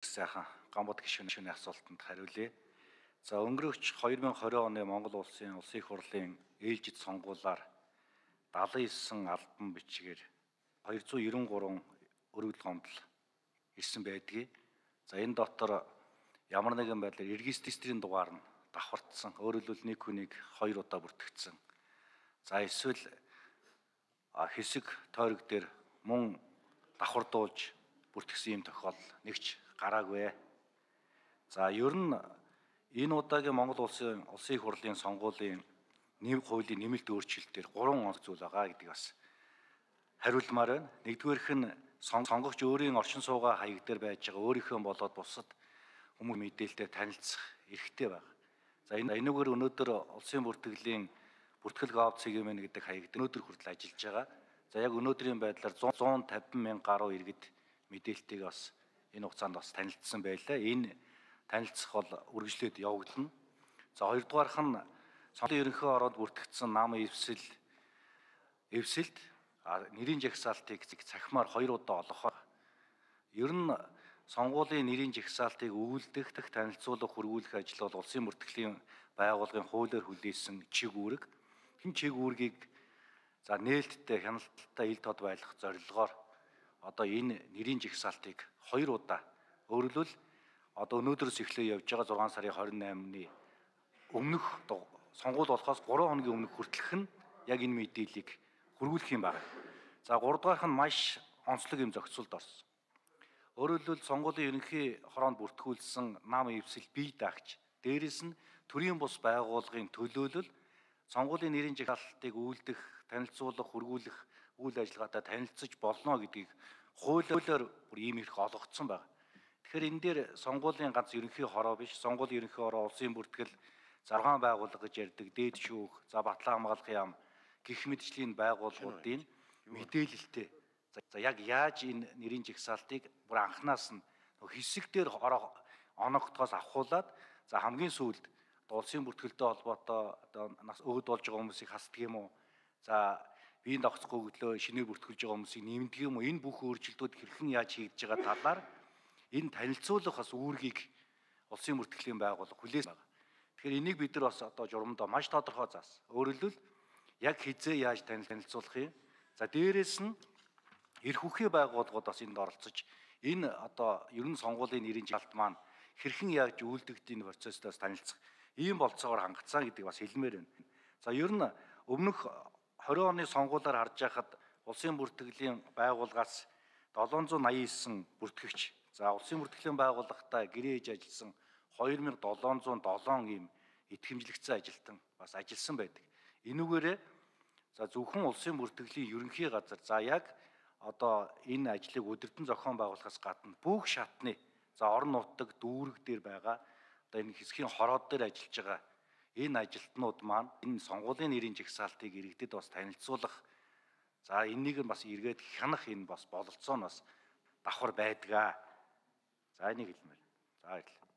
сайхан гамбат гишүүний асуултанд хариулъя. За өнгөрөгч 2020 оны Монгол улсын их хурлын ээлжид сонгуулиар 79 албан бичгээр 293 өргөдөл гомдол ирсэн байдгийг. За энэ дотор ямар нэгэн байдлаар регистрийн дугаар нь давхардсан. Өөрөөр хэлбэл нэг хүнийг 2 удаа бүртгэгдсэн. За эсвэл хэсэг тойрог дээр мөн давхардуулж бүртгэсэн юм тохиолдол нэгч гараагүй. За ер нь энэ удаагийн Монгол улсын их хурлын сонгуулийн хуулийн нэмэлт өөрчлөлтөөр 3 зүйл байгаа гэдэг бас хариулмаар байна. Нэгдүгээрх нь сонгогч өөрийн оршин суугаа хаяг дээр байж байгаа өөрийнхөө болоод бусад хүмүүс мэдээлэлтэй танилцах эрхтэй байна. За энэгээр өнөөдөр улсын бүртгэлийн бүртгэл гав цэгийн гэдэг хаяг дээр өнөөдөр хүртэл ажиллаж байгаа. За яг өнөөдрийн байдлаар 150 мянга гаруй иргэд мэдээлэлтэйг бас энэ хугацаанд бас танилцсан байлаа. Энэ танилцах бол үргэлжлээд явагдана. За хоёрдугаарх нь сонгуулийн ерөнхий ороод бүртгэгдсэн нам эвсэлт нэрийн жагсаалтыг цахимаар 2 удаа олгох. Ер нь сонгуулийн нэрийн жагсаалтыг өвөлдөх, танилцуулах, хөрвүүлэх ажил бол улсын бүртгэлийн байгууллагын хуулиар хүлээсэн чиг үүрэг. Энэ чиг үүргийг за нээлттэй, хяналттай ил тод байлгах зорилгоор одоо энэ нэрийн жагсаалтыг 2 удаа өөрөлдвөл одоо өнөөдрөөс эхлээ явж байгаа 6 сарын 28-ны өмнөх сонгуул болохоос 3 хоногийн өмнөх хүртэлх нь яг энэ мэдээллийг хөрвүүлэх юм байна. За 3 дугаарх нь маш онцлог юм зохицуулд орсон. Өөрөөр хэлбэл сонгуулийн ерөнхий хороонд бүртгүүлсэн нам эвсэл бие даагч дээрэс нь төрийн бус байгууллагын төлөөлөл сонгуулийн нэрийн жагсаалтыг үйлдэх, танилцуулах, хөрвүүлэх үйл ажиллагаатай танилцж болно гэдгийг хуулиар бүр ийм эрх олгогдсон байна. Тэгэхээр энэ дээр сонгуулийн ганц ерөнхий хороо биш, сонгуулийн ерөнхий хороо улсын бүртгэл 6 байгууллага гэж ярьдаг дээд шүүх, за батлан хамгаалахын яам гэх мэтчлийн байгууллагуудын мэдээлэлтэй. За яг яаж энэ нэрийн жагсаалтыг бүр анханаас нь хэсэг дээр оногдохоос авахуулаад за хамгийн сүүлд улсын бүртгэлтэй холбоотой одоо нас өөд болж байгаа хүмүүсийг хасдаг юм уу? За биеийн давхцахгүй хөдлөө шинээр бүртгүүлж байгаа хүмүүсийг нэмдэг юм уу? Энэ бүх өөрчлөлтүүд хэрхэн яаж хийгдэж байгаа талаар энэ танилцуулах бас үүргийг улсын бүртгэлийн байгууллага хүлээсэн байна. Тэгэхээр энийг бид нар бас одоо журамдаа маш тодорхой заасан. Өөрөөр хэлбэл яг хизээ яаж танилцуулах юм? За дээрэс нь эрх үхий байгууллагууд бас энд оролцож энэ одоо ер нь сонгуулийн нэрийн жагсаалт маань хэрхэн яаж үйлдэгдэх процесстаас танилцах ийм болцоогоор хангацсан гэдэг бас хэлмээр байна. За ер нь өмнөх 20 оны сонгуулиар харж байхад улсын бүртгэлийн байгууллагаас 789 бүртгэгч, за улсын бүртгэлийн байгууллагатай гэрээ хийж ажилласан 2707 ийм итгэмжлэгдсэн ажилтан бас ажилласан байдаг. Энүүгээрээ за зөвхөн улсын бүртгэлийн ерөнхий газар за яг одоо энэ ажлыг өдөртөн зохион байгуулахаас гадна бүх шатны за орон нутаг дүүрэг дээр байгаа одоо энэ хэсгийн хороод дээр ажиллаж байгаа энэ ажилтнууд маань энэ сонгуулийн нэрийн жагсаалтыг иргэдэд бас танилцуулах за энийг нь бас эргээд хянах энэ бас бололцоо нь бас давхар байдгаа. За энийг хэлмээр. За баярлалаа.